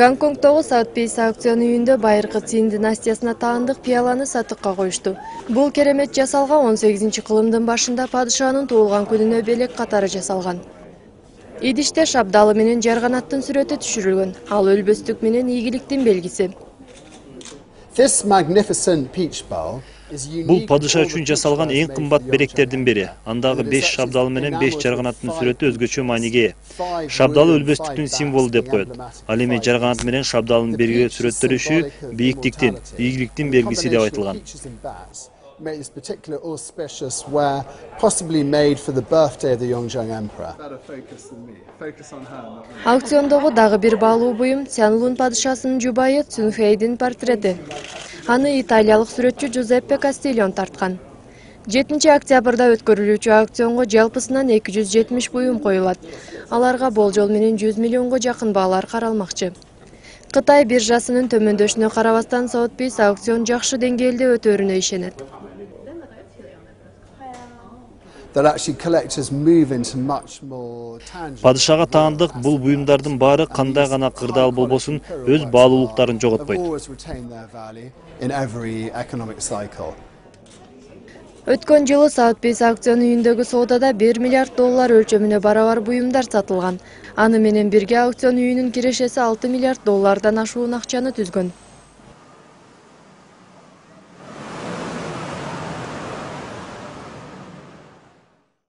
Гонконгдогу Sotheby's аукцион үйүндө байыркы Цин династиясына таандык пияланы сатыкка коюшту. Бул керемет жасалга 18-кылымдын башында падышанын туулган күнүнө белек катары жасалган. Идиште шабдалы менен жарганаттын сүрөтү түшүрүлгөн. Ал өлбөстүк менен ийгиликтин белгиси. Бул падыша үчүн жасалган эң кымбат беректердин бири. Андагы 5 шабдалы менен 5 жарганаттын сүрөтү өзгөчө мааниге ээ. Шабдалы өлбөстүктүн символу деп коет. Ал эми жарганат менен шабдалынын бирге сүрөттөлүшү бийиктиктин, ийгиликтин белгиси деп айтылган. Made this particular auspicious wear, possibly made for the birthday of the Yongjang Emperor. Аукциондогу дагы бир баалуу буюм Цянлун падышасынын жубайы Цюнфэйдин портрети. Аны италиялык сүрөтчү Джузеппе Кастильон тарткан. 7 октябрда өткөрүлүүчү аукционго жалпысынан 270 буюм коюлат. Аларга болжол менен 100 миллионго жакын баалар каралмакчы. Кытай биржасынын төмөндөшүнө карабастан Sotheby's аукцион жакшы деңгээлде өтөөрүнө ишенет. Падышага таандык бул буюмдардын баары кандай гана кырдаал болбосун өз баалуулуктарын жоготпойт. Өткөн жылы Sotheby's аукцион үйүндөгү соодада 1 миллиард доллар өлчөмүнө барабар буюмдар сатылган. Аны менен бирге аукцион үйүнүн кирешеси 6 миллиард доллардан ашуун акчаны түзгөн.